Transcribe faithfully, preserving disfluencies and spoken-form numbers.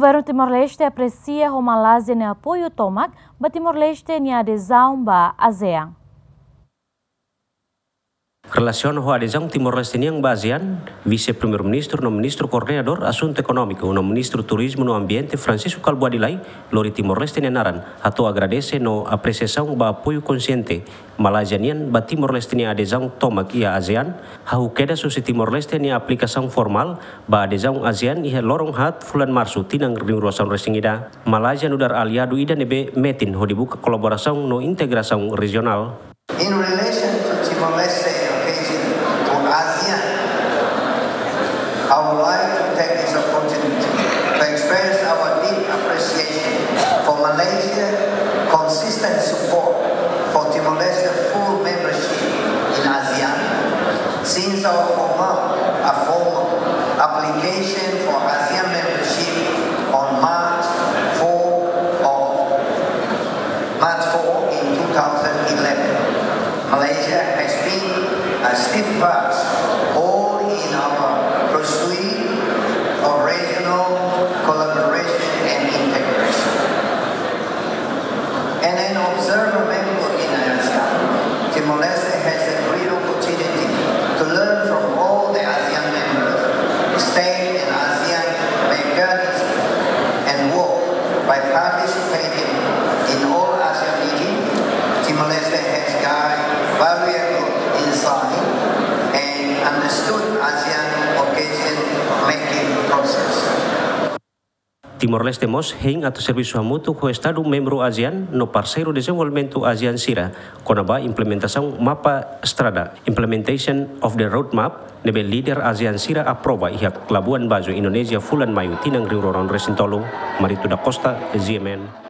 Governu Timor-Leste apresia ho Malázia nia apoiu tomak ba Timor-Leste nia adezaun ba ASEAN. Relasiona ho adezaun Timor-Leste nian ba ASEAN, Vise-Primeiru-Ministru no Ministru Koordenadór Asuntu Ekonómiku no Ministru Turizmu no Ambiente, Francisco Kalbuadi Lay, lori Timor-Leste nia naran, hato'o agradese no apresiasaun ba apoiu konsiente Malázia nian ba Timor-Leste nia adezaun tomak iha ASEAN, hahú kedas husi Timor-Leste nia aplikasaun formál ba adezaun ASEAN iha loron haat fulan Marsu tinan rihun rua sanulu-resin-ida. Malázia nu'udar aliadu ida ne'ebé metin hodi buka kolaborasaun no integrasaun rejionál. In relation to Timor-Leste occasion to ASEAN, I would like to take this opportunity to express our deep appreciation for Malaysia's consistent support for Timor-Leste's full membership in ASEAN since our formal, a formal application for ASEAN membership on March four of March four in two thousand eleven. Malaysia has been a steadfast all in our pursuit of regional collaboration and integration. And an observer member in ASEAN, Timor-Leste has a great opportunity to learn from all the ASEAN members, state and ASEAN mechanisms, and work by participating in all ASEAN meetings. Timor-Leste has gained valuable insight and understood ASEAN occasion making process. Timor-Leste mós hein atu servisu hamutuk ho Estadu membru ASEAN no parseiru dezenvolvimentu ASEAN sira kona-ba implementasaun mapa estrada, implementation of the roadmap, ne'ebé líder ASEAN sira aprova iha Labuan Bajo, Indonézia, fulan Maiu tinan rihun rua ruanulu-resin-tolu. Marito da Costa, G M N.